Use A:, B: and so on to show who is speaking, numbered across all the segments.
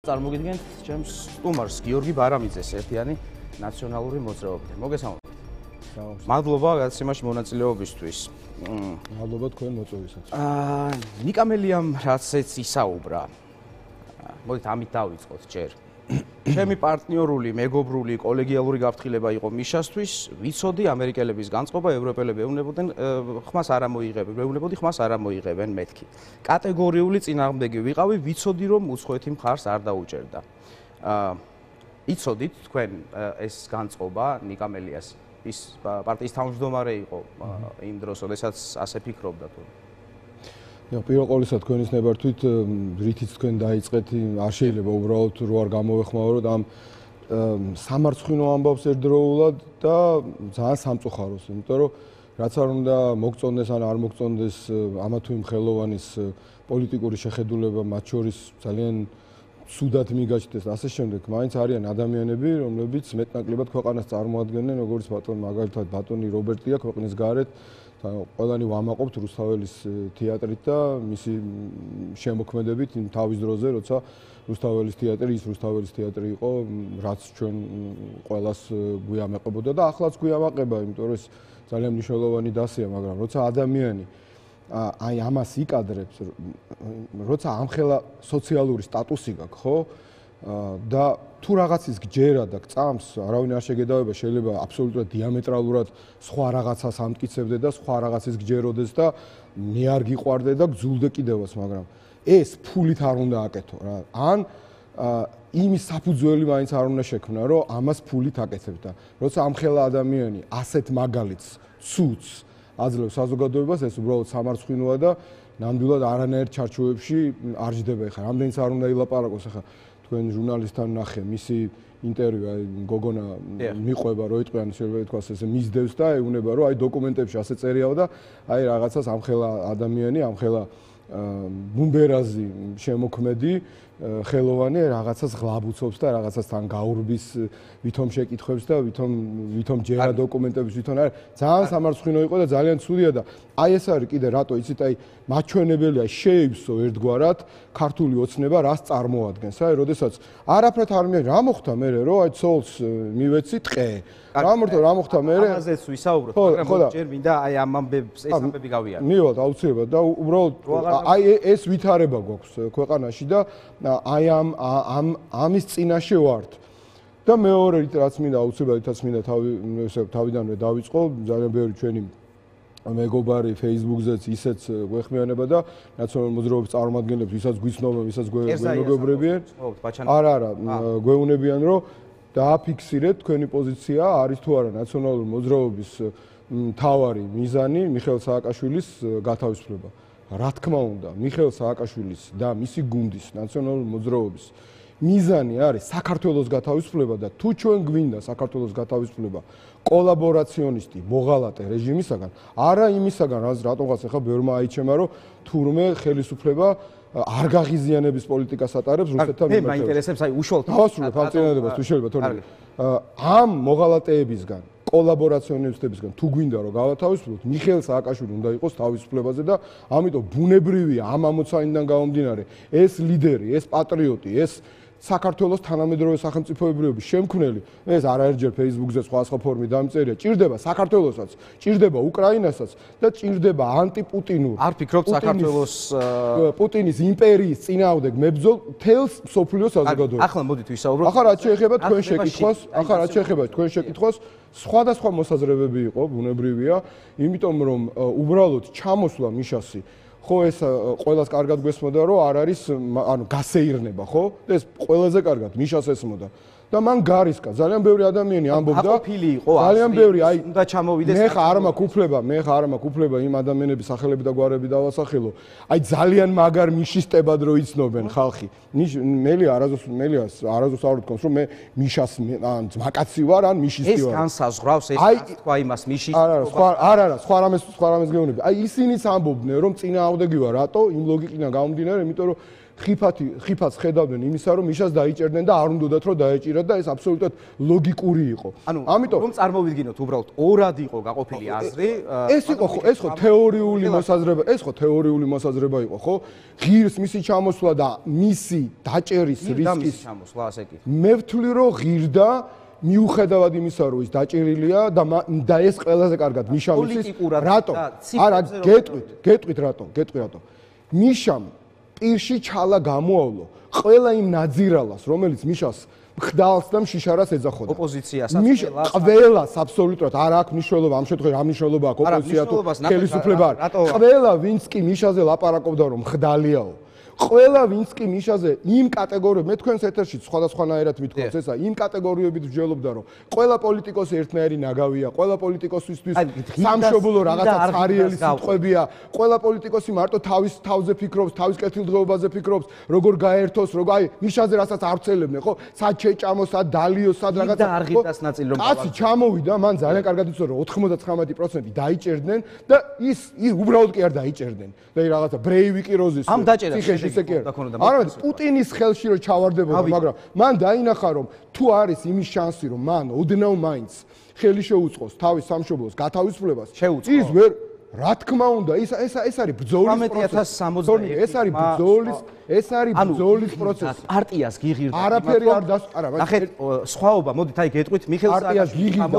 A: წარმოგიდგენთ ჩემს სტუმარს გიორგი ბარამიძეს ერთიანი ნაციონალური მოძრაობიდან. მოგესალმებით. მადლობა გადაცემაში მონაწილეობისთვის.
B: მადლობა თქვენ მოწვევისათვის.
A: ნიკამელიამ რაცაც ისაუბრა. მოდით ამით დავიწყოთ ჯერ. ჩემი პარტნიორული, მეგობრული, კოლეგიალური გაფრთხილება იყო მიშასთვის, ვიცოდი ამერიკელების განწყობა, ევროპელები ეუბნებოდნენ, ხმას არ ამოიღებენ, ეუბნებოდი ხმას არ ამოიღებენ მეთქი. კატეგორიული წინააღმდეგი ვიყავი, ვიცოდი რომ უცხოეთი მხარს არ დაუჭერდა. იცოდით თქვენ ეს განწყობა ნიკამელიას ის პარტიის თავმჯდომარე იყო იმ დროს, როდესაც ასე ფიქრობდა თუ
B: პირველ ყოვლისა თქვენის ნებართვით რითიც თქვენ დაიწყეთ არ შეიძლება უბრალოდ რო არ გამოვეხმაუროთ ამ სამარცხვინო ამბავს ერთდროულად და ძალიან სამწუხაროს, იმიტომ რომ რაც არ უნდა მოგწონდეს ან არ მოგწონდეს ამა თუ იმ ხელოვანის პოლიტიკური შეხედულება მათ შორის ძალიან სუდად მიგაჩნდეს ასე შემდეგ, მაინც არიან ადამიანები, რომლებიც მეტნაკლებად ქვეყანას წარმოადგენენ, როგორც მაგალითად ბატონი რობერტია ქვეყნის გარეთ ყველანი ვამაყობთ რუსთაველის თეატრით და მისი შემოქმედებით თავის დროზე, როცა რუსთაველის თეატრი ის რუსთაველის თეატრი იყო, რაც ჩვენ ყველას გვიამაყებოდა და ახლაც გვიამაყება, იმიტომ რომ ეს ძალიან მნიშვნელოვანი დასია, მაგრამ როცა ადამიანი აი ამას იკადრებს, როცა ამხელა სოციალური სტატუსი გაქვს, ხო? და თუ რაღაცის გჯერა და გწამს, არავინ არ შეგედავება, შეიძლება აბსოლუტურად დიამეტრალურად სხვა რაღაცას ამტკიცებდე და სხვა რაღაცის გჯეროდეს და მე არ გიყვარდე და გძულდე კიდევაც, მაგრამ ეს ფულით არ უნდა აკეთო რა. ან იმის საფუძველი მაინც არ უნდა შექმნა, რომ ამას ფულით აკეთებ და როცა ამხელა ადამიანი ასეთ მაგალითს ცუც აძლევს საზოგადოებას, ეს უბრალოდ სამარცხვინოა და ნამდვილად არანაირ ჩარჩოებში არ ჯდება. ეხლა რამდენიც არ უნდა ილაპარაკოს, ეხლა თქვენ ჟურნალისტთან ნახე მისი ინტერვიუ, აი გოგონა მიყვება, რომ იტყვიან შეიძლება ითქვას ესე მისდევს და ეუბნება, რომ აი დოკუმენტებში ასე წერიაო და აი რაღაცას ამხელა ადამიანი, ამხელა ბუმბერაზი შემოქმედი ხელოვანი რაღაცას ღლაბუცობს და რაღაცას თან გაურბის ვითომ შეკითხვებს და ვითომ ჯერა დოკუმენტების ვითომ არის ძალიან სამარცხვინო იყო და ძალიან ცუდია და აი ეს არის კიდე რატო იცით აი მაჩვენებელია შეივსო ერთგვარად ქართული ოცნება რას წარმოადგენს აი როდესაც არაფრად არ მე რა მოხდა მე რომ აი ცოლს მივეცი ტყე რა მოხდა მე
A: ამაზეც ვისაუბროთ მაგრამ ჯერ მინდა აი ამ ამბებს ეს ამბები გავიაროთ
B: მივალთ აუცილებლად და უბრალოდ აი ეს ვითარება გვაქვს ქვეყანაში და აი ამის წინაშე ვართ და მეორე რაც მინდა აუცილებლად მინდა თავიდანვე დავიწყო ძალიან ბევრი ჩვენი მეგობარი Facebook-ზეც ისეც გვეხმიანება და ნაციონალური მოძრაობის წარმომადგენლებს ვისაც გვიცნობენ, ვისაც გვეუბნებიან. არა, გვეუბნებიან, რომ დააფიქსირეთ თქვენი პოზიცია არის თუ არა ნაციონალური მოძრაობის მთავარი მიზანი მიხეილ სააკაშვილის გათავისუფლება. რა თქმა უნდა, მიხეილ სააკაშვილის და მისი გუნდის ნაციონალური მოძრაობის მიზანი არის საქართველოს გათავისუფლება და თუ ჩვენ გვინდა საქართველოს გათავისუფლება კოლაბორაციონისტი მოღალატე რეჟიმისაგან, არა იმისაგან, რატომღაც ახლა ბევრმა აიჩემა, რომ თურმე ხელისუფლება არ გაღიზიანების პოლიტიკას ატარებს რუსეთთან მიმართებით.
A: მე მაინტერესებს აი უშუალოდ
B: დავასრულებ ამ წინადადებას თუ შეიძლება თორემ ამ მოღალატეებისგან კოლაბორაციონისტებისგან თუ გვინდა რომ გავათავისუფლოთ, მიხეილ სააკაშვილი უნდა იყოს თავისუფლებაზე და ამიტომ ბუნებრივია ამ ამოცანიდან გამომდინარე ეს ლიდერი, ეს პატრიოტი, ეს საქართველოს თანამედროვე სახელმწიფოებრიობის შემქმნელი, ეს არაერთჯერ Facebook-ზე სხვა ფორმით დამწერია, ჭირდება საქართველოსაც, ჭირდება უკრაინასაც და ჭირდება ანტიპუტინურ.
A: არ ფიქრობთ საქართველოს
B: პუტინის იმპერიის წინააღმდეგ მებრძოლ თელს სოფლიოს საზოგადოებას.
A: ახლა მოდით ვისაუბროთ.
B: ახლა რაც შეეხება თქვენ შეკითხვას, სხვადასხვა მოსაზრებები იყო, ბუნებრივია, იმიტომ რომ უბრალოდ ჩამოსვლა მიშასი ხო ეს ყველას კარგად გვესმოდა რომ არ არის ანუ გასეირნება ხო ეს ყველაზე კარგად მიშას ესმოდა და მან გარისკა ძალიან ბევრი ადამიანი ამბობდა ძალიან ბევრი აი
A: უნდა ჩამოვიდეს
B: მე ხა არ მაქვს უფლება იმ ადამიანების სახელები და გვარები დავასახელო აი ძალიან მაგარ მიშისტებად რო იცნობენ ხალხი მელი არაზოს არ ვთქვამს რომ მე მიშას ან ძმაკაცი ვარ ან მიშისტი ვარ
A: ეს განსაზღვრავს ეს თქვა იმას მიშის
B: არა სხვა რამეს გეუბნები აი ისინიც ამბობდნენ რომ წინააღმდეგი ვარ რატო იმ ლოგიკიდან გამომდინარე იმიტომ რომ ხიფათს ხედავდნენ იმისა, რომ მიშას დაიჭერდნენ და არ უნდათ რომ დაეჭირათ და ეს აბსოლუტურად ლოგიკური იყო.
A: ამიტომ რომ წარმოვიდგინოთ უბრალოდ ორად იყო გაყოფილი აზრი.
B: ეს ხო თეორიული მოსაზრება იყო, ხო? ღირს მისი ჩამოსვლა და მისი დაჭერის რისკის
A: ჩამოსვლა, ასე კი.
B: მე ვთვლი რომ ღირდა მიუხედავად იმისა, რომ ის დაჭერილია და ეს ყველაზე კარგად მიშამ იცის რატომ? არა, გეტყვით რატომ? მიშამ პირში ჩალა გამოავლო ყველა იმ ნაძირალას, რომელიც მიშას ხდალს და მშიშარას ეძახოდა.
A: ოპოზიციასაც
B: ყველას აბსოლუტურად არ აქვს მნიშვნელობა ამ შემთხვევაში, რა მნიშვნელობა აქვს ოპოზიცია თუ ხელისუფლება არ. ყველა ვინც კი მიშაზე ლაპარაკობდა რომ ხდალიაო. ყველა ვინც კი მიშაზე იმ კატეგორიებით, მე თქვენს ეთერში სხვადასხვანაირად მithქვავს ესა, იმ კატეგორიებით ვჯელობდა რომ ყველა პოლიტიკოსი ერთნაირი ნაგავია, ყველა პოლიტიკოსისთვის სამშობლო რაღაცა ცარიელი სიტყვებია, ყველა პოლიტიკოსი მარტო თავის თავზე ფიქრობს, თავის კეთილდღეობაზე ფიქრობს, როგორ გაერთოს, აი მიშაზე რასაც არცელებდნენ, ხო? სად შეჭამო, სად დალიო, სად რაღაცა.
A: და არ ღირდას ნაწილი რომ
B: კაცი ჩამოვიდა, მან ძალიან კარგად იცოდა რომ 99% დაიჭერდნენ და ის უბრალოდ კი არ დაიჭერდნენ. და რაღაცა ბრეივიკი როზის
A: ამ დაჭერას
B: ისე კი არა პუტინის ხელში რომ ჩავარდებოდა მაგრამ მან დაინახა რომ თუ არის იმის შანსი რომ მან ოდნავ მაინც ხელი შეუწყოს თავის სამშობლოს გათავისუფლებას ის ვერ რა თქმა უნდა ეს არის ბრძოლის პროცესი ეს არის ბრძოლის პროცესი
A: პარტიას გიღირდა
B: არაფერი არ
A: ნახეთ სხვაობა მოდით აი გეტყვით მიხეილ
B: პარტიას გიღირდა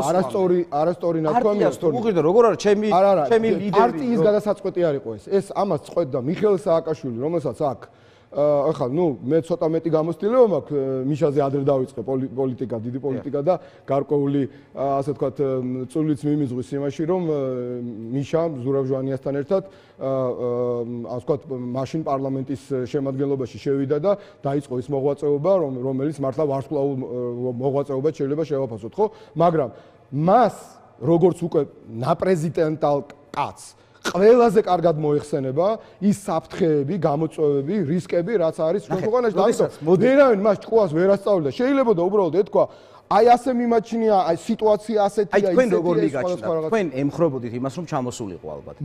B: არასწორი ნათქვამია
A: უღირდა როგორ არის ჩემი ლიდერი
B: პარტიის გადასაწყვეტი არ იყო ეს ამას წყვეტდა მიხეილ სააკაშვილი რომელსაც აქ ახლა მე ცოტა მეტი გამოცდილება მაქვს მიშაზე ადრე დავიწყე პოლიტიკა დიდი პოლიტიკა და გარკვეული ასე ვთქვათ წულიც მიმიზღვის იმაში რომ მიშა ზურაბ ჟვანიასთან ერთად ასე ვთქვათ მაშინ პარლამენტის შემადგენლობაში შევიდა და დაიწყო ის მოღვაწეობა რომელიც მართლა ვარსკვლავურ მოღვაწეობად შეიძლება შევაფასოთ ხო მაგრამ მას როგორც უკვე ნაპრეზიდენტალ კაცს ყველაზე კარგად მოიხსენება ის საფრთხეები, გამოწვევები, რისკები, რაც არის ქვეყანაში და ვერავინ მას ჭკუას ვერ ასწავლიდა. შეიძლება და უბრალოდ ეთქვა, აი ასე მიმაჩნია, აი სიტუაცია ასეთია,
A: აი თქვენ როგორ მიგაჩნდა? თქვენ ემხრობოდით იმას, რომ ჩამოსულიყო ალბათ.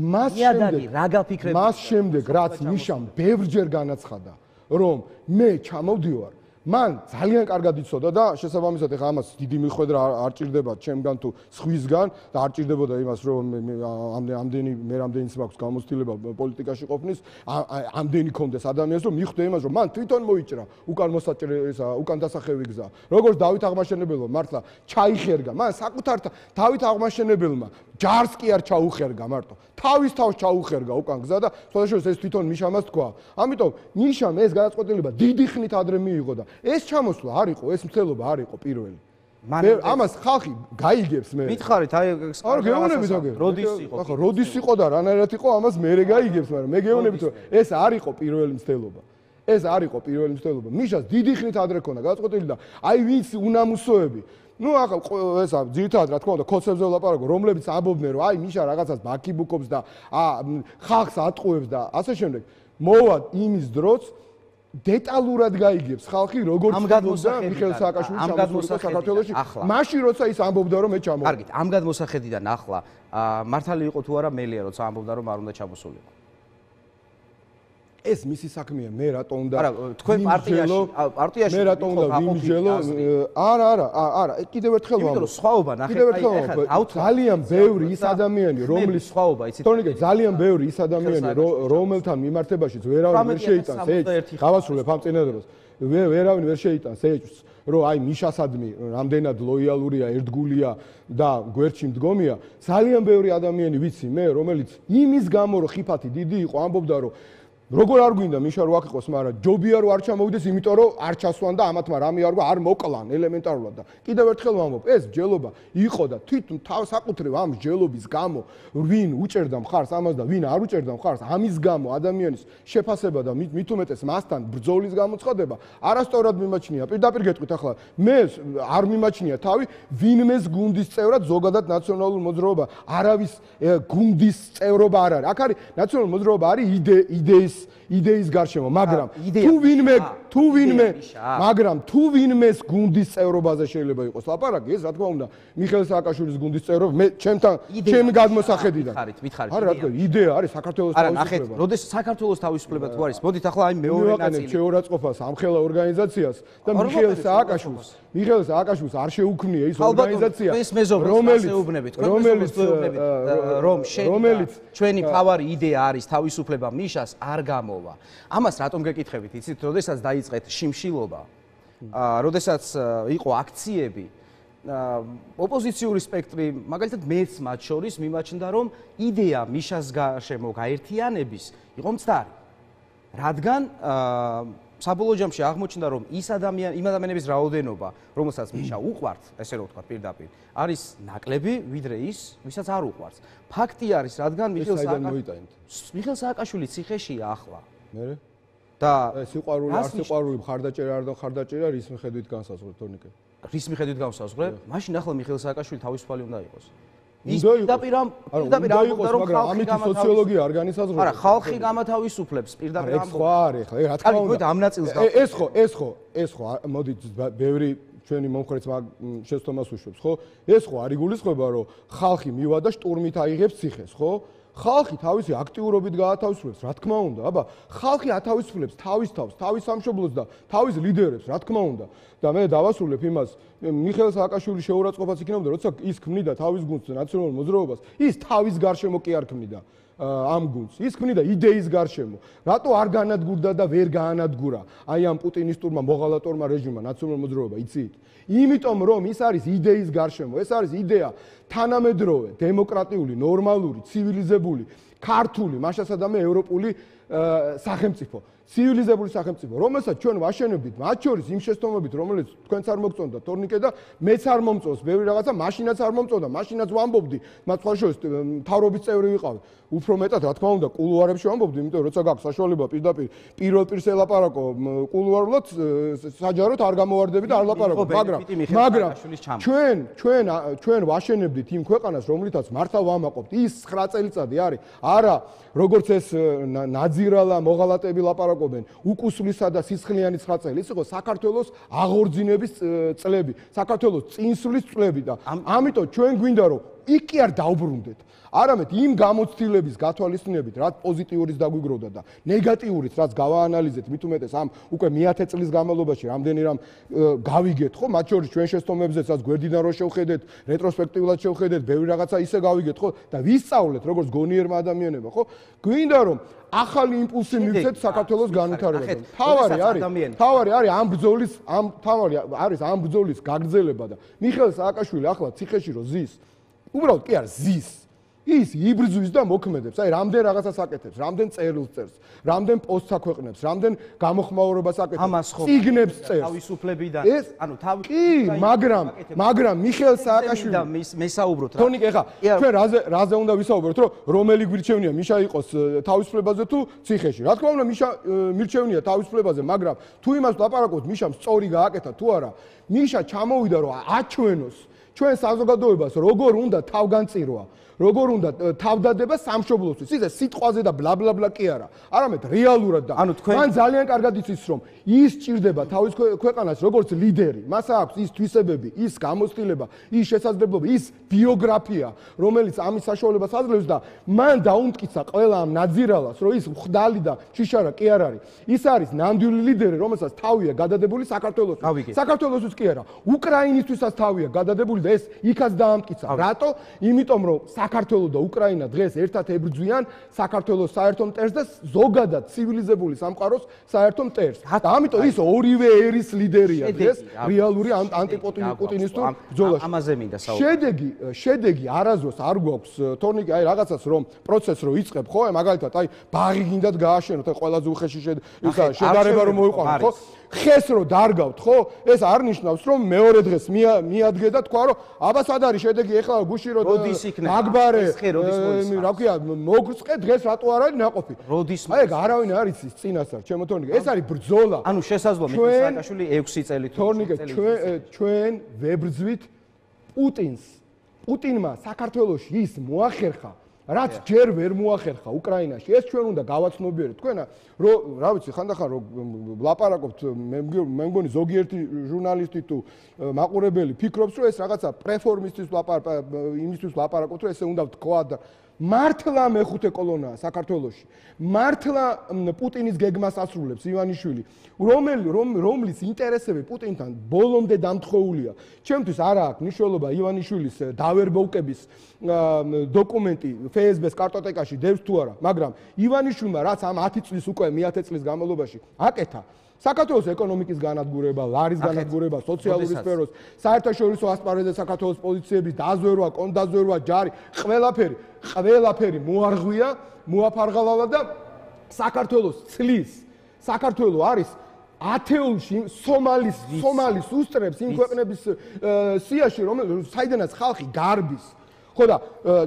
B: მას შემდეგ, რაც მიშამ ბევრჯერ განაცხადა, რომ მე ჩამოვდივარ მან ძალიან კარგად იცოდა და შესაბამისად ეხა ამას დიდი მიხვედრა არ ჭირდება ჩემგან თუ სხვისგან და არ ჭირდებოდა იმას რომ ამდენიც მაქვს გამოცდილება პოლიტიკაში ყოფნის ამდენი კონდეს ადამიანს რომ მიხვდე იმას რომ მან თვითონ მოიჭრა უკან მოსაჭრე ესა უკან დასახევი გზა როგორც დავით აღმაშენებელმა მართლა ჩაიხერგა მან საკუთარ დავით აღმაშენებელმა ჯარს კი არ ჩაუხერგა მარტო თავის თავს ჩაუხერგა უკან გზა და შესაძლოა ეს თვითონ მიშამას თქვა ამიტომ მიშამ ეს გადაწყვეტილება დიდი ხნით ადრე მიიღო და ეს ჩამოსვლა არ იყო, ეს მცდელობა არ იყო პირველი. ამას ხალხი გაიგებს მე.
A: მითხარით, აი
B: არ გეუბნებით აგერ. როდის იყო და რანაირად იყო, ამას მე გაიგებს, მაგრამ მე გეუბნებით, რომ ეს არ იყო პირველი მცდელობა. ეს არ იყო პირველი მცდელობა. მიშას დიდი ხნით ადრე ქონდა გადაწყვეტილი და აი ვინც უნამუსოები ახლა ესა ძირითადად რა თქმა უნდა კოცებზე ვლაპარაკო რომლებიც ამბობდნენ რომ აი მიშა რაღაცას ბაქიბუქობს და ხალხს ატყუებს და ასე შემდეგ მოვა იმის დროც დეტალურად გაიგებს ხალხი როგორც ამგადმოსა მიხეილ სააკაშვილის ჩამოსულიყო საქართველოში მაშინ როცა ის ამბობდა რომ მე ჩამოვა.
A: კარგით, ამგადმოსახედიდან ახლა მართალი იყო თუ არა მელია როცა ამბობდა რომ არ უნდა ჩამოსულიყო.
B: ეს მისი საქმეა მე რატო უნდა
A: არა თქვენ პარტიაში
B: მე რატო უნდა ვიმსჯელო არა კიდევ ერთხელ ვამბობ
A: იმიტომ რომ სხვაობა ნახეთ აი
B: ძალიან ბევრი ის ადამიანი რომლის
A: სხვაობა იცით
B: თორნიკე ძალიან ბევრი ის ადამიანი რომელთან მიმართებაშიც ვერავინ ვერ შეიტანს ეჭვს გავასრულებ ამ წინადადებას ვერავინ ვერ შეიტანს ეჭვს რომ აი მიშასადმი რამდენად ლოიალურია ერთგულია და გვერდში მდგომია ძალიან ბევრი ადამიანი ვიცი მე რომელიც იმის გამო რომ ხიფათი დიდი იყო ამბობდა რომ როგორ არ გვინდა მიშა რო აქ იყოს, მაგრამ ჯობია რო არ ჩამოვიდეს, იმიტომ რომ არ ჩასვან და ამათმა რამე არ გვა არ მოკლან ელემენტარულად და კიდევ ერთხელ ვამბობ, ეს ჯელობა იყო და თვითონ საკუთრივ ამ ჯელობის გამო ვინ უჭერდა მხარს ამას და ვინ არ უჭერდა მხარს ამის გამო ადამიანის შეფასება და მით უმეტეს მასთან ბრძოლის გამოცხადება არასწორად მიმაჩნია. პირდაპირ გეტყვით ახლა მე არ მიმაჩნია თავი ვინმეს გუნდის წევრად ზოგადად ნაციონალურ მოძრაობა არავის გუნდის წევრობა არ არის. აქ არის ნაციონალური მოძრაობა არის იდეის გარშემო, მაგრამ თუ ვინმეს გუნდის წევრობაზე შეიძლება იყოს ლაპარაკი, ეს რა თქმა უნდა, მიხეილ სააკაშვილის გუნდის წევრობა, მე ჩემი გადმოსახედიდან.
A: მითხარით.
B: არა, რა თქმა უნდა, იდეა არის საქართველოს თავისუფლება.
A: როდესაც საქართველოს თავისუფლება თუ არის, მოდით ახლა აი მეორე ნაწილი.
B: შეურაცხყოფას ამხელა ორგანიზაციას და მიხეილ სააკაშვილს არ შეუქმნია ის ორგანიზაცია,
A: რომელიც ჩვენი ფავარი იდეა არის თავისუფლება მიშას არ გამოვა. ამას რატომ გეკითხებით? იცით, როდესაც დაიწყეთ შიმშილობა, როდესაც იყო აქციები, ოპოზიციური სპექტრი, მაგალითად მეც მათ შორის მიმაჩნდა, რომ იდეა მიშას გარშემო გაერთიანების იყო მცდარი. რადგან საბოლოო ჯამში აღმოჩნდა, რომ იმ ადამიანების რაოდენობა, რომელსაც მიშა უყვართ, ესე რომ ვთქვათ პირდაპირ, არის ნაკლები, ვიდრე ის, ვისაც არ უყვართ. ფაქტი არის, რადგან მიხეილ სააკაშვილი ციხეშია ახლა.
B: მერე?
A: და
B: სიყვარული, არ სიყვარული, მხარდაჭერა არ და მხარდაჭერა რის მიხედვით განსაზღვრეთ, თორნიკე?
A: რის მიხედვით განსაზღვრეთ? მაშინ ახლა მიხეილ სააკაშვილი თავისუფალი უნდა იყოს. ის
B: პირდაპირ ამბობდა, რომ ამით სოციოლოგია არ განისაზღვრება.
A: არა, ხალხი გამათავისუფლებს პირდაპირ
B: ამბობს. ეს ხო არის, ხო, რა თქმა უნდა.
A: ამ ნაწილს
B: ეს ხო, მოდით ბევრი ჩვენი მომხრეც შეცდომას უშვებს, ხო? ეს ხო არ იგულისხმება, რომ ხალხი მივა და შტურმით აიღებს ციხეს, ხო? ხალხი თავისი აქტიურობით გაათავისუფლებს, რა თქმა უნდა. აბა, ხალხი ათავისუფლებს თავის თავს, თავის სამშობლოს და თავის ლიდერებს, რა თქმა უნდა. და მე დავასრულებ იმას, მიხეილ სააკაშვილის შეურაცხყოფაც იქნებოდა, როცა ის ქმნიდა თავის გუნდს ნაციონალურ მოძრაობას, ის თავის გარშემო კი არ ქმნიდა ამ გუნდს. ის ქმნიდა იდეის გარშემო. რატო არ განადგურდა და ვერ გაანადგურა აი ამ პუტინისტურმა მოღალატორმა რეჟიმმა ნაციონალურ მოძრაობა, იცით? იმიტომ რომ ის არის იდეის გარშემო, ეს არის იდეა თანამედროვე, დემოკრატიული, ნორმალური, ცივილიზებული, ქართული, მაშასადამე ევროპული სახელმწიფო. ცივილიზებული სახელმწიფო, რომელსაც ჩვენ ვაშენებდით, მათ შორის იმ შეცდომებით, რომელიც თქვენც არ მოგწონდა, თორნიკე და მეც არ მომწონს, ბევრი რაღაცა, მაშინაც არ მომწონდა, მაშინაც ვამბობდი, მათ სხვა შორის მთავრობის წევრი ვიყავი. უფრო მეტად, რა თქმა უნდა, კულუარებში ვამბობდი, იმიტომ რომ როცა გაქვს საშუალება პირდაპირ პირველ პირს ელაპარაკო კულუარულად, საჯაროდ არ გამოვარდები და არ ლაპარაკო, მაგრამ ჩვენ ვაშენებდით იმ ქვეყანას, რომლითაც მართლა ვამაყობთ. ის 9 წელიწადი არის, არა, როგორც ეს ნაძირალა მოღალატები ლაპარაკობენ, უკუსვლისა და სისხლიანი 9 წელი, ის იყო საქართველოს აღორძინების წლები, საქართველოს წინსვლის წლები და ამიტომ ჩვენ გვინდა რომ იქ კი არ დაუბრუნდეთ. არამედ იმ გამოცდილების გათვალისწინებით, რაც პოზიტიურიც დაგვიგროვდა და ნეგატიურიც, რაც გავაანალიზეთ, მით უმეტეს ამ უკვე მე-10 წლის განმავლობაში რამდენი რამ გავიგეთ, ხო, მათ შორის ჩვენ შეცდომებზეც, რაც გვერდიდან რო შევხედეთ, რეტროსპექტიულად შევხედეთ, ბევრი რაღაცა ისე გავიგეთ, ხო, და ვისწავლეთ, როგორც გონიერმა ადამიანებმა, ხო? გვინდა რომ ახალი იმპულსი მივცეთ საქართველოს განვითარებაზე. თავარი არის ამ ბრძოლის გაგრძელება და მიხეილ სააკაშვილი ახლა ციხეში რო ზის, უბრალოდ კი არ ზის. ის იბრძვის და მოქმედებს, აი რამდენ რაღაცას აკეთებს, რამდენ წერილს წერს, რამდენ პოსტს აქვეყნებს, რამდენ გამოხმაურებას აკეთებს, წიგნებს წერს.
A: თავისუფლებიდან, ანუ
B: მაგრამ მიხეილ სააკაშვილი
A: და მესაუბროთ რა.
B: თონიკე, ხა, ჩვენ რაზე უნდა ვისაუბროთ, რომ რომელი გვირჩევნია მიშა იყოს თავისუფლებაზე თუ ციხეში. რა თქმა უნდა, მიშა მირჩევნია თავისუფლებაზე, მაგრამ თუ იმას ლაპარაკობთ, მიშამ სწორი გააკეთა თუ არა, მიშა ჩამოვიდა რომ აჩვენოს ჩვენ საზოგადოებას როგორ უნდა თავგანწირვა. როგორ უნდა თავდადება სამშობლოსთვის. ისე სიტყვაზე და ბლა ბლა ბლა კი არა. არამედ რეალურად და მან ძალიან კარგად იცის რომ ის ჭირდება თავის ქვეყანას როგორც ლიდერი. მას აქვს ის თვისებები, ის გამოცდილება, ის შესაძლებლობა, ის ბიოგრაფია, რომელიც ამის საშუალებას აძლევს და მან დაუმტკიცა ყველა ამ ნაძირალას, რომ ის მხდალი და შიშარა კი არ არის. ის არის ნამდვილი ლიდერი, რომელსაც თავია გადადებული საქართველოსთვის. საქართველოსთვის კი არა, უკრაინისთვისაც თავია გადადებული და ეს იქაც დაამტკიცა. რატო? იმიტომ რომ საქართველო და უკრაინა დღეს ერთად ებრძვიან საქართველოს საერთო მტერს და ზოგადად ცივილიზებული სამყაროს საერთო მტერს. და ამიტომ ის ორივე ერის ლიდერია დღეს რეალური ანტიპუტინისტურ ბრძოლაში.
A: ამაზე მინდა საუბარი.
B: შედეგი არასდროს არ გვაქვს თორნიკე აი რაღაცას რომ პროცესს რო იწყებ ხო მაგალითად აი ბაღი გინდათ გააშენოთ აი ყველაზე უხეში შედარება რომ მოიყვანოთ ხო ხეს რო დარგავთ ხო ეს არ ნიშნავს რომ მეორე დღეს მიადგე და თქვა რომ აბა სად არის შედეგი ეხლა გუში რო აგბარე რა ქვია მოგწყე დღეს რატო არ არის ნაყოფი აი ეგ არავინ არ იცის წინასწარ ჩემო თორნიკე ეს არის ბრძოლა
A: ანუ შესაძლოა მიხეილ სააკაშვილი 6 წელი
B: თორნიკე ჩვენ ვებრძვით პუტინს პუტინმა საქართველოში ის მოახერხა რაც ჯერ ვერ მოახერხა უკრაინაში, ეს ჩვენ უნდა გავაცნობიეროთ. თქვენ რა ვიცი, ხანდახან რომ ვლაპარაკობთ, მე მგონი ზოგიერთი ჟურნალისტი თუ მაყურებელი ფიქრობს, რომ ეს რაღაცა პრეფორმისტის იმისთვის ვლაპარაკობთ, რომ ესე უნდა ვთქვა და მართლა მეხუთე კოლონაა საქართველოში. მართლა პუტინის გეგმას ასრულებს ივანიშვილი, რომლის ინტერესები პუტინთან ბოლომდე დამთხოვულია. ჩემთვის არა აქვს მნიშვნელობა ივანიშვილის დავერბოვკების დოკუმენტი FSB-ს კარტოტეკაში დევს თუ არა, მაგრამ ივანიშვილმა რაც ამ 10 წლის უკვე 10 წლის განმავლობაში აკეთა საქართველოს ეკონომიკის განადგურება, ლარის განადგურება, სოციალური სფეროს, საერთაშორისო ასპარეზზე საქართველოს პოზიციების დაზვერვა, კონდაზვერვა, ჯარი, ყველაფერი მოარღვია, მოაფარღალალა და საქართველოს ცლის. საქართველო არის ათეულში სომალის უსწრებს იმ ქვეყნების სიაში, საიდანაც ხალხი გარბის. ხო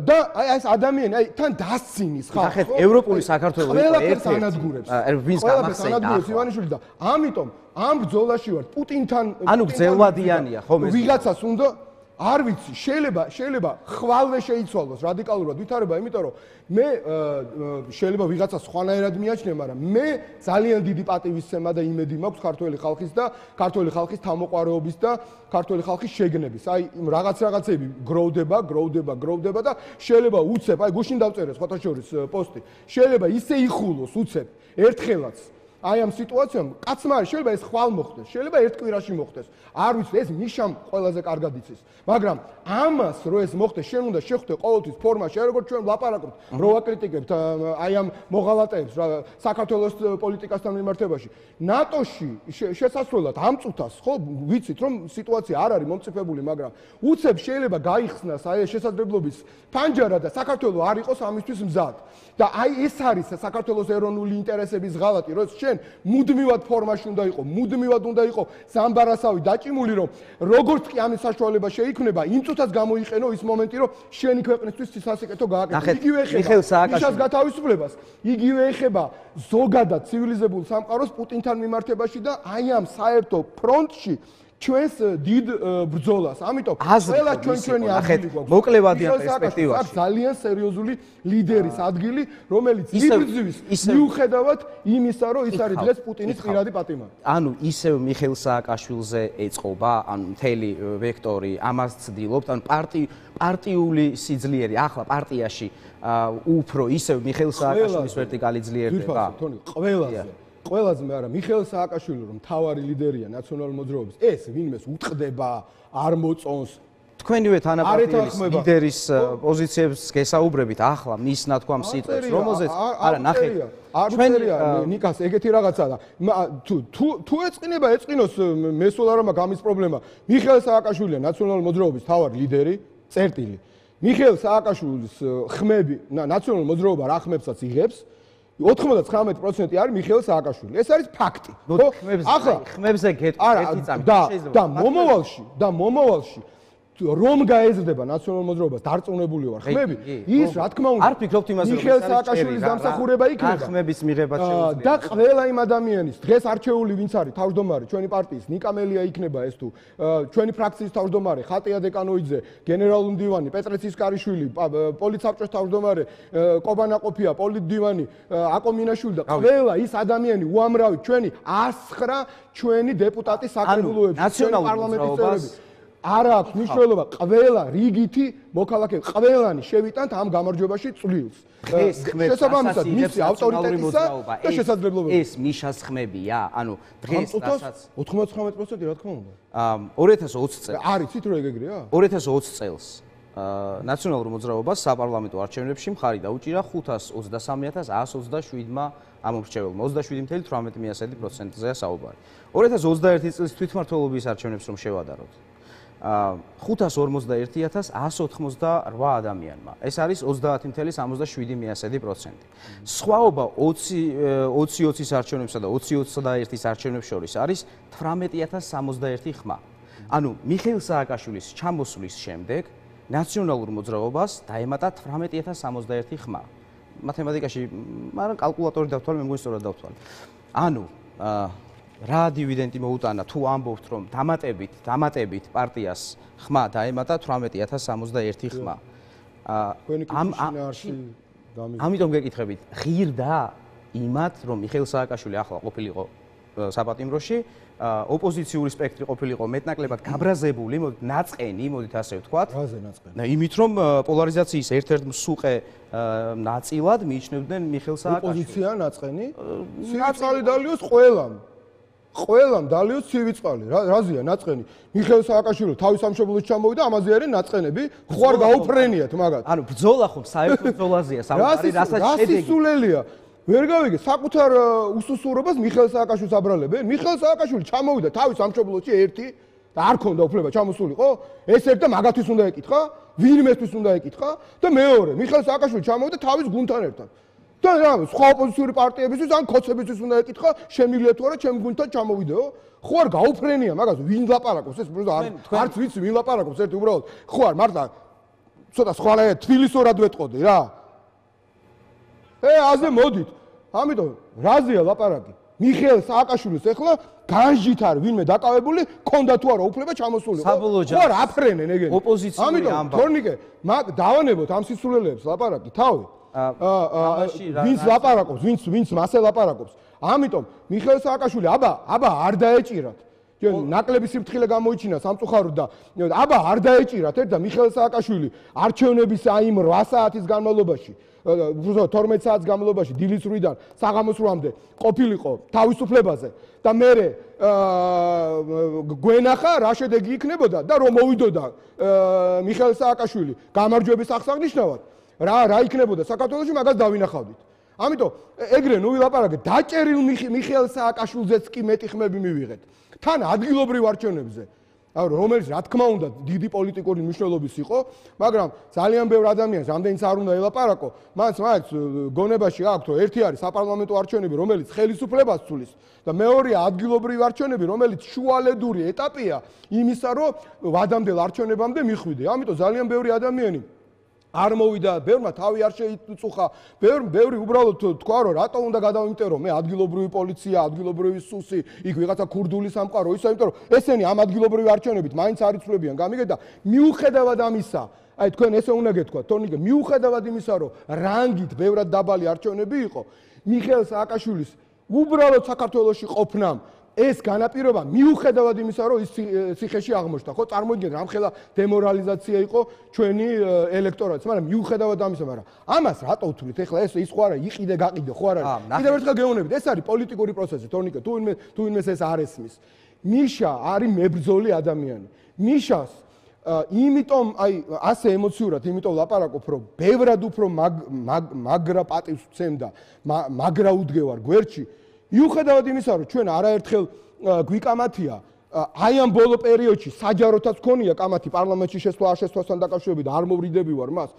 B: და ეს ადამიანი თან დასცინის ხალხს.
A: ახეთ ევროპული საქართველო
B: ერთ-ერთი ანადგურებს.
A: ვინც გამახსენდა
B: ივანიშვილი და ამიტომ ამ ბრძოლაში ვარ პუტინთან.
A: ანუ გრძელვადიანია ხომ ეს?
B: ვიღაცას უნდა არ ვიცი, შეიძლება ხვალვე შეიცვალოს რადიკალურად ვითარება, იმიტომ რომ მე შეიძლება ვიღაცა სხვანაირად მიაჩნია, მაგრამ მე ძალიან დიდი პატივისცემა და იმედი მაქვს ქართველი ხალხის და ქართველი ხალხის თავმოყვარეობის და ქართველი ხალხის შეგნების. აი რაღაცეები გროვდება და შეიძლება უცებ, აი გუშინ დავწერე სხვათა შორის პოსტი. შეიძლება ისე იხულოს უცებ ერთხელაც აი ამ სიტუაციამ კაცმა შეიძლება ეს ხვალ მოხდეს, შეიძლება ერთ კვირაში მოხდეს. არ ვიცი, ეს მიშამ ყველაზე კარგად იცის. მაგრამ ამას რო ეს მოხდეს, შენ უნდა შეხვდე ყოველთვის ფორმაში, როგორც ჩვენ ვლაპარაკობთ, რო ვაკრიტიკებთ აი ამ მოღალატეებს საქართველოს პოლიტიკასთან მიმართებაში. ნატოში შესასვლელად ამ წუთას, ხო, ვიცით რომ სიტუაცია არ არის მომწიფებული, მაგრამ უცებ შეიძლება გაიხსნას აი ეს შესაძლებლობის ფანჯარა და საქართველოს არ იყოს ამისთვის მზად. და აი ეს არის საქართველოს ეროვნული ინტერესების ღალატი, რომ შენ მუდმივად ფორმაში უნდა იყო, მუდმივად უნდა იყო ზამბარასავი დაჭიმული, რომ როგორც კი ამის საშუალება შეიქმნება, იმ წუთას გამოიყენო ის მომენტი, რომ შენი ქვეყნისთვის სასიკეთო გააკეთო. იგივე ეხება მიშას გათავისუფლებას, იგივე ეხება ზოგადად ცივილიზებულ სამყაროს პუტინთან მიმართებაში და აი ამ საერთო ფრონტში ჩვენს დიდ ბრძოლას. ამიტომ ყველა ჩვენი ადგილი გვაქვს.
A: მოკლევადიან პერსპექტივაში.
B: ძალიან სერიოზული ლიდერის ადგილი, რომელიც იბრძვის მიუხედავად იმისა, რომ ის არის დღეს პუტინის პირადი პატიმარი.
A: ანუ ისევ მიხეილ სააკაშვილზე ეწყობა, ანუ მთელი ვექტორი ამას ცდილობთ, ანუ პარტიული სიძლიერე ახლა პარტიაში უფრო ისევ მიხეილ სააკაშვილის ვერტიკალი ძლიერდება.
B: ყველაზე მაგრამ მიხეილ სააკაშვილი რომ მთავარი ლიდერია ნაციონალური მოძრაობის, ეს ვინმეს უტყდება, არ მოწონს.
A: თქვენივე თანაპარტიელის ლიდერის პოზიციებს გესაუბრებით ახლა მის ნათქვამ სიტყვებს, რომელზეც არა ნახეთ.
B: ჩვენია ნიკას ეგეთი რაღაცა და თუ ეწყინოს მე სულ არ მაქვს ამის პრობლემა. მიხეილ სააკაშვილია ნაციონალური მოძრაობის მთავარი ლიდერი, წერტილი. მიხეილ სააკაშვილის ხმები ნაციონალური მოძრაობა რა ხმებსაც იღებს 99% არის მიხეილ სააკაშვილი. ეს არის ფაქტი.
A: ახლა ხმებზე გეტყვით ერთი წამი
B: შეიძლება და მომავალში რომ გაეზრდება ნაციონალურ მოძრაობას დარწმუნებული ვარ ხმები ის რა თქმა უნდა
A: არ ფიქრობთ იმაზე რომ
B: მიხეილ სააკაშვილის დამსახურება იქნება
A: ხმების მიღება შეუძლია
B: და ყველა იმ ადამიანის დღეს არჩეული ვინც არის თავმჯდომარე ჩვენი პარტიის ნიკამელია იქნება ეს თუ ჩვენი ფრაქციის თავმჯდომარე ხატია დეკანოიძე გენერალური მდივანი პეტრე ცისკარიშვილი პოლიცსაბჭოს თავმჯდომარე კობა ნაყოფია პოლიტდივანი აკო მინაშვილი და ყველა ის ადამიანი უამრავი ჩვენი 109 ჩვენი დეპუტატი საკრებულოებში
A: ნაციონალურ პარლამენტის
B: არა აქვს მნიშვნელობა ყველა რიგითი მოქალაქე ყველანი შევიტანთ ამ გამარჯვებაში წვლილს შესაბამისად მისი ავტორიტეტისა და შესაძლებლობების
A: ეს მიშას ხმებია ანუ დღეს რასაც
B: 99% რა თქმა უნდა
A: 2020 წელს
B: არიცით რომ ეგრეა
A: 2020 წელს ნაციონალურ მოძრაობას საპარლამენტო არჩევნებში მხარი დაუჭირა 520,127-მა ამომრჩეველმა 27.18%-ზეა საუბარი 2021 წლის თვითმმართველობის არჩევნებს რომ შევადაროთ 551,188 ადამიანმა. ეს არის 30.77%. სხვაობა 20-20-ის არჩევნებსა და 20-21-ის არჩევნებს შორის არის 18,061 ხმა. ანუ მიხეილ სააკაშვილის ჩამოსვლის შემდეგ ნაციონალურ მოძრაობას დაემატა 18,061 ხმა. მათემატიკაში, მაგრამ კალკულატორი დავთვალე, მე მგონი სწორად დავთვალე. ანუ რა დივიდენდი მოუტანა თუ ამბობთ რომ დამატებით პარტიას ხმა დაემატა 18,061 ხმა. ამიტომ გეკითხებით, ღირდა იმათ, რომ მიხეილ სააკაშვილი ახლა ყოფილიყო საპატიმროში, ოპოზიციური სპექტრი ყოფილიყო მეტნაკლებად გაბრაზებული, ნაწყენი, მოდით ასე ვთქვათ.
B: რაზე ნაწყენი?
A: იმით, რომ პოლარიზაციის ერთ-ერთ მსუყე ნაწილად მიიჩნევდნენ მიხეილ სააკაშვილს.
B: ოპოზიცია ნაწყენი? სივიწყალი დალიოს ყველამ. ყველამ დალიოს სივიწყალი. რაზეა ნაწყენი? მიხეილ სააკაშვილი თავის სამშობლოში ჩამოვიდა, ამაზე არის ნაწყენები. ხო არ გაუფრენიათ მაგათ.
A: ანუ ბრძოლა ხომ საერთო ბრძოლაზეა, საუბარი რასაც შედეგი.
B: რასი სულელია? ვერ გავიგე, საკუთარ უსუსურობას მიხეილ სააკაშვილს აბრალებენ. მიხეილ სააკაშვილი ჩამოვიდა თავის სამშობლოში ერთი და არ ქონდა უფლება ჩამოსულიყო. ეს ერთ და მაგათთვის უნდა ეკითხა, ვინმესთვის უნდა ეკითხა და მეორე, მიხეილ სააკაშვილი ჩამოვიდა თავის გუნდთან ერთად. და რა, სხვა ოპოზიციური პარტიებისთვის ან ქოცებისთვის უნდა ეკითხა, შემიძლია თუ არა ჩემ გუნდთან ჩამოვიდეო? ხო არ გაუფრენია მაგას, ვინ ლაპარაკობს ეს არც ვიცი ვინ ლაპარაკობს ერთი უბრალოდ. ხო არ მართლა ცოტა სხვანაირად თბილისურად ვეტყოდი რა. აზე მოდით. ამიტომ რაზეა ლაპარაკი? მიხეილ სააკაშვილის ეხლა განჯით არის ვინმე დაკავებული, ქონდა თუ არა უფლება ჩამოსულიყო. ხო არ აფრენენ ეგენი.
A: ოპოზიციური ამბავი.
B: ამიტომ თორნიკე, დავანებოთ ამ სისულელეებს ლაპარაკი თავი. ვინც ლაპარაკობს, ვინც მასე ლაპარაკობს. ამიტომ მიხეილ სააკაშვილი აბა არ დაეჭირათ. ნაკლები სიფრთხილე გამოიჩინა სამწუხაროდ და აბა არ დაეჭირათ ერთ და მიხეილ სააკაშვილი არჩევნების აი 8 საათის განმავლობაში 12 საათის განმავლობაში დილის 8-დან საღამოს 8-მდე ყოფილიყო თავისუფლებაზე და მე გვენახა რა შედეგი იქნებოდა და რომ მოვიდოდა მიხეილ სააკაშვილი გამარჯვების აღსანიშნავად რა იქნებოდა საქართველოში მაგას დავინახავდით. ამიტომ ეგრე ნუ ვილაპარაკეთ დაჭერილ მიხეილ სააკაშვილზეც კი მეტი ხმები მივიღეთ. თან ადგილობრივ არჩევნებზე, რომელიც რა თქმა უნდა დიდი პოლიტიკური მნიშვნელობის იყო, მაგრამ ძალიან ბევრ ადამიანს რამდენიც არ უნდა ელაპარაკო, მას გონებაში აქვს, რომ ერთი არის საპარლამენტო არჩევნები, რომელიც ხელისუფლებას ცulis და მეორეა ადგილობრივი არჩევნები, რომელიც შუალედური ეტაპია იმისა, რომ ვადამდელ არჩევნებამდე მიხვიდე. ამიტომ ძალიან ბევრი ადამიანი არ მოვიდა, ბევრმა თავი არ შეიწუხა, ბევრი უბრალოდ თქვა, რომ რატო უნდა გადავიმტერო მე ადგილობრივი პოლიცია, ადგილობრივი სუსი, იქ ვიღაცა ქურდული სამყარო, ისე იმიტომ რომ ესენი ამ ადგილობრივი არჩევნებით მაინც არ იცვლებიან, გამიგეთ და მიუხედავად ამისა, აი თქვენ ესე უნდა გეთქვათ, თორნიკე, მიუხედავად იმისა, რომ რანგით ბევრად დაბალი არჩევნები იყო, მიხეილ სააკაშვილის უბრალოდ საქართველოში ყოფნამ ეს განაპირობა მიუხედავად იმისა, რომ ის ციხეში აღმოჩნდა, ხო, წარმოიდგინეთ, რამხელა დემორალიზაცია იყო ჩვენი ელექტორატის, მაგრამ მიუხედავად ამისა, მაგრამ ამას რატო ვთვლით? ეხლა ის ხო არა იყიდე გაყიდე, ხო არ არის? კიდევ ერთხელ გეუბნებით, ეს არის პოლიტიკური პროცესი, თორნიკე, თუ ვინმეს ეს არ ესმის. მიშა არის მებრძოლი ადამიანი. მიშას იმიტომ აი ასე ემოციურად იმიტომ ლაპარაკობ, რომ ბევრად უფრო მაგრა პატივს ვცემდა, მაგრა უდგევარ გვერდში. მიუხედავად იმისა, რომ ჩვენ არაერთხელ გვიკამათია, აი ამ ბოლო პერიოდში საჯაროთაც ქონია კამათი პარლამენტში შესვლასთან დაკავშირებით, არ მოვრიდები ვარ მას.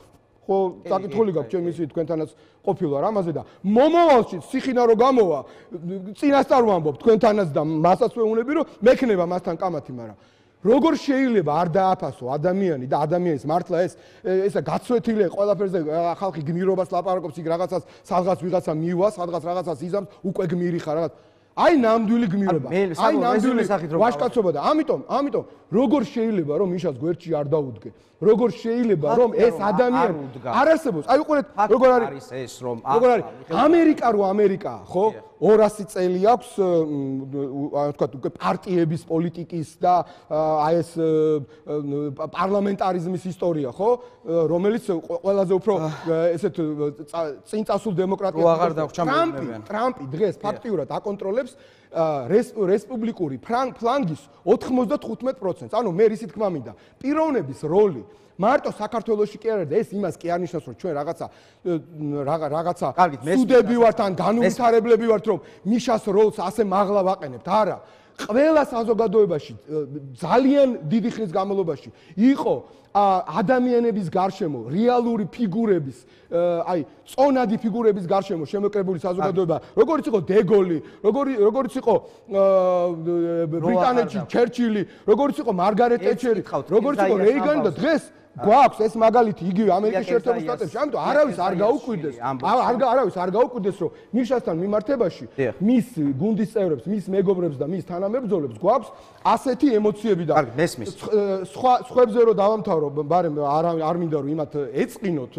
B: ხო, საკითხული გაქვს ჩემ ისე თქვენთანაც ყოფილ ვარ ამაზე და მომავალში სიხინა რო გამოვა, წინასწარ ვამბობ თქვენთანაც და მასაც ვეუბნები, რომ მექნება მასთან კამათი, მაგრამ როგორ შეიძლება არ დააფასო ადამიანი და ადამიანის მართლა ესა გაცვეთილია ყველაფერზე ხალხი გმირობას ლაპარაკობს, იქ რაღაცას სადღაც ვიღაცა მივა, სადღაც რაღაცას იზამს, უკვე გმირი ხარ რაღაც. აი ნამდვილი გმირობა, აი ნამდვილი ვაჟკაცობა და ამიტომ როგორ შეიძლება რომ მიშას გვერდში არ დაუდგე? როგორ შეიძლება რომ ეს ადამიანი არ არსებობს? აი უყურეთ როგორ არის
A: ეს რომ
B: როგორ არის ამერიკაა, ხო? 200 წელი აქვს ვთქვათ უკვე პარტიების პოლიტიკის და აი ეს პარლამენტარიზმის ისტორია, ხო? რომელიც ყველაზე უფრო ესეთ წინწასულ დემოკრატიას ტრამპი დღეს ფაქტიურად აკონტროლებს რესპუბლიკური ფლანგის 95%. ანუ მე რისი თქმა მინდა, პიროვნების როლი მარტო საქართველოში კი არ არის და ეს იმას კი არ ნიშნავს, რომ ჩვენ რაღაცა სუდები ვართ ან განუვითარებლები ვართ, რომ მიშას როლს ასე მაღლა ვაყენებთ. არა. ყველა საზოგადოებაში ძალიან დიდი ხნის განმავლობაში იყო ადამიანების გარშემო რეალური ფიგურების, აი წონადი ფიგურების გარშემო შემოკრებული საზოგადოება, როგორც იყო დეგოლი, როგორც იყო ბრიტანეთში ჩერჩილი, როგორც იყო მარგარეტ ტეტჩერი, როგორც იყო რეიგანი და გვაქვს ეს მაგალითი იგივე ამერიკის შეერთებულ შტატებში, ამიტომ არავის არ გაუკვირდეს, არავის არ გაუკვირდეს, რომ ნიშასთან მიმართებაში მის გუნდის წევრებს, მის მეგობრებს და მის თანამებრძოლებს გვაქვს ასეთი ემოციები და სხვებზე რომ დავამთავრო, მაგრამ არ მინდა რომ იმათ ეწყინოთ,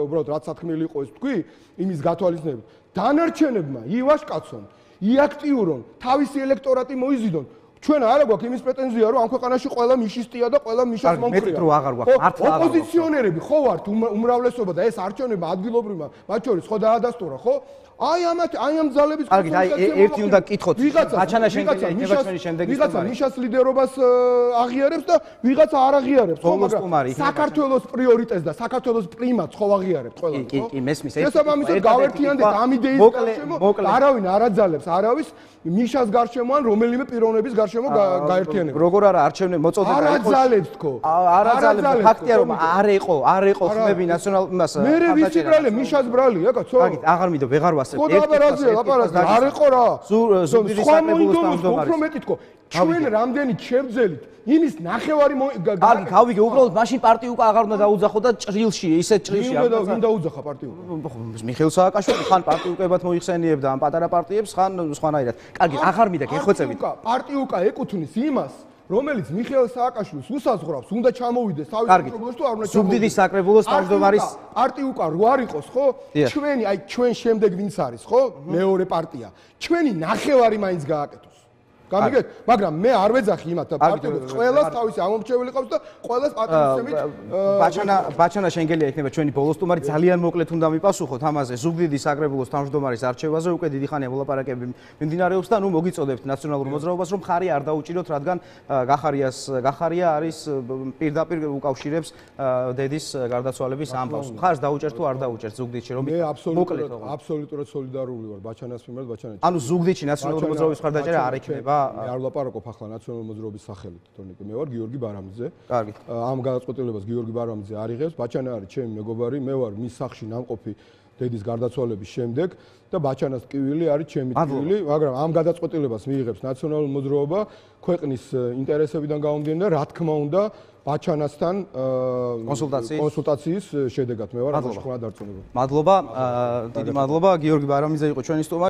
B: უბრალოდ რაც სათქმელი იყო ეს თქვი, იმის გათვალისწინებით. დანარჩენებმა ივაშკაცონ, იაქტიურონ, თავისი ელექტორატი მოიზიდონ. ჩვენ არა გვაქვს იმის პრეტენზია, რომ ამ ქვეყანაში ყველა მიშისტია და ყველა მიშას მომხრია.
A: მეტყვი რო აღარ გვაქვს, მართლა აღარ.
B: ოპოზიციონერები ხო ვართ უმრავლესობა და ეს არჩევნებმა ადგილობრივმა მათ შორის ხო დაადასტურა, ხო? აი ამ ძალების
A: კარგი, აი ერთი უნდა გკითხოთ. ბაჩანა
B: ვიღაცა მიშას ლიდერობას აღიარებს და ვიღაცა არ აღიარებს, ხო, მაგრამ საქართველოს პრიორიტეტს და საქართველოს პრიმატს ხო აღიარებთ ყველა, ხო?
A: კი, მესმის.
B: შესაბამისად გავერთიანდეთ ამ იდეის გარშემო, არავინ არ აძალებს არავის მიშას გარშემო ან რომელიმე პიროვნების გარშემო გაერთიანება.
A: როგორ არა არჩევნები მოწოდება
B: იყო? არ აძალებს თქო.
A: არ აძალებს. ფაქტია რომ არ იყო ხმები ნაციონალ იმას.
B: მე ვიცი ბრალე მიშას ბრალია, კაცო.
A: კარგი, აღარ მინდა ვეღარ ვასწრებ.
B: ხო დაბარაზია, ლაპარაკი. არ იყო რა.
A: ზუგდიდის საკრებულოს თავმჯდომარის.
B: უფრო მეტი თქო. ჩვენ რამდენი ჩემძელით იმის ნახევარი
A: კარგი, გავიგე, უბრალოდ მაშინ პარტია უკვე აღარ უნდა დაუძახო და ჭრილში, ისეთ ჭრილში
B: ვინ დაუძახა პარტია?
A: მიხეილ სააკაშვილი ხან პარტიუკებად მოიხსენიებდა ამ პატარა პარტიებს, ხან სხვანაირად. კარგი, აღარ მინდა გეხვეწებით.
B: პარტიუკა ეკუთვნის იმას, რომელიც მიხეილ სააკაშვილს უსაზღვრავს, უნდა ჩამოვიდეს თავის პროგრამაში თუ არ უნდა ჩამოვიდეს.
A: ზუგდიდის საკრებულოს თავმჯდომარის
B: პარტიუკა რო არ იყოს, ხო? ჩვენი, აი ჩვენ შემდეგ ვინც არის, ხო? მეორე პარტია. ჩვენი ნახევარი მაინც გააკეთოს. გამიგეთ? მაგრამ მე არ ვეძახი იმათ და პარტიებს ყველას თავისი ამომრჩეველი ყავს და ყველას პატრიოტიზმით
A: ბაჩანა შენგელია იქნება ჩვენი ბოლოს სტუმარი. ძალიან მოკლედ უნდა მიპასუხოთ ამაზე. ზუგდიდის საკრებულოს თავმჯდომარის არჩევაზე უკვე დიდი ხანია მოლაპარაკებები მიმდინარეობს და ნუ მოგიწოდებთ ნაციონალურ მოძრაობას, რომ ხარი არ დაუჭიროთ, რადგან გახარია არის პირდაპირ უკავშირებს დედის გარდაცვალების ამბავს. ხარს დაუჭერთ თუ არ დაუჭერთ ზუგდიდში, რომ
B: მე აბსოლუტურად სოლიდარული ვარ ბაჩანას მიმართ, ბაჩანა.
A: ანუ ზუგდიდში ნაციონალური მოძრაობის მხარდაჭერა არ იქნება.
B: მე არ ვლაპარაკობ ახლა ნაციონალური მოძრაობის სახელით, თორემ მე ვარ გიორგი ბარამიძე.
A: კარგი.
B: ამ გადაწყვეტილებას გიორგი ბარამიძე არ იღებს, ბაჩანა არის ჩემი მეგობარი, მე ვარ მის სახლში ნამყოფი დედის გარდაცვალების შემდეგ და ბაჩანას ტკივილი არის ჩემი ტკივილი, მაგრამ ამ გადაწყვეტილებას მიიღებს ნაციონალური მოძრაობა ქვეყნის ინტერესებიდან გამომდინარე და რა თქმა უნდა ბაჩანასთან კონსულტაციის შედეგად მე ვარ ამ შეხმა დარწმუნებული.
A: მადლობა, დიდი მადლობა, გიორგი ბარამიძე იყო ჩვენი სტუმარი.